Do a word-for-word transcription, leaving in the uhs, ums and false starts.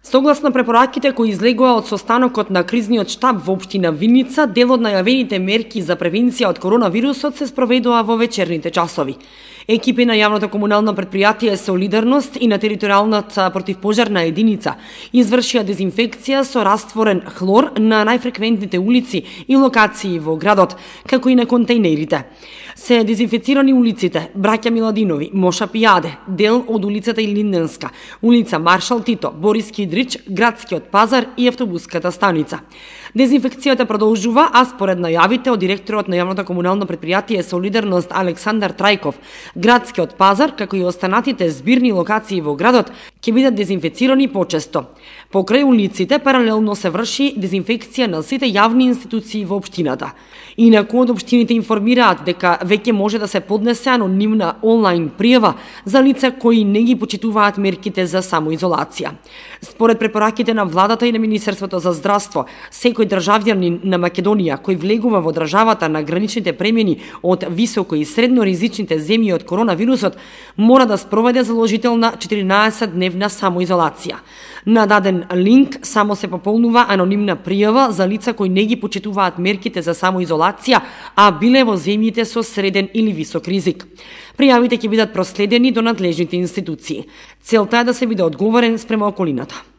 Согласно препораките кои излегоа од состанокот на кризниот штаб во општина Виница, дел од најавените мерки за превенција од коронавирусот се спроведува во вечерните часови. Екипи на јавното комунално претпријатие Солидарност и на територијалната противпожарна единица извршија дезинфекција со растворен хлор на најфреквентните улици и локации во градот, како и на контејнерите. Се дезинфицирани улиците Браќа Миладинови, Моша Пијаде, дел од улицата Илинденска, улица Маршал Тито, Борис Кидрич, Градскиот пазар и автобуската станица. Дезинфекцијата продолжува, а според најавите од директорот на јавното комунално претпријатие Солидарност Александар Трајков, Градскиот пазар, како и останатите збирни локации во градот, ќе бидат дезинфицирани почесто. Покрај улиците паралелно се врши дезинфекција на сите јавни институции во општината. Инаку од општините информираат дека веќе може да се поднесе анонимна онлайн пријава за лица кои не ги почитуваат мерките за самоизолација. Според препораките на владата и на Министерството за здравство, секој државјанин на Македонија кој влегува во државата на граничните премини од високо и средно ризичните земји од коронавирусот мора да спроведе заложителна четиринаесет-дневна самоизолација. На даден линк само се пополнува анонимна пријава за лица кои не ги почитуваат мерките за самоизолација, а биле во земјите со среден или висок ризик. Пријавите ќе бидат проследени до надлежните институции. Целта е да се биде одговорен спрема околината.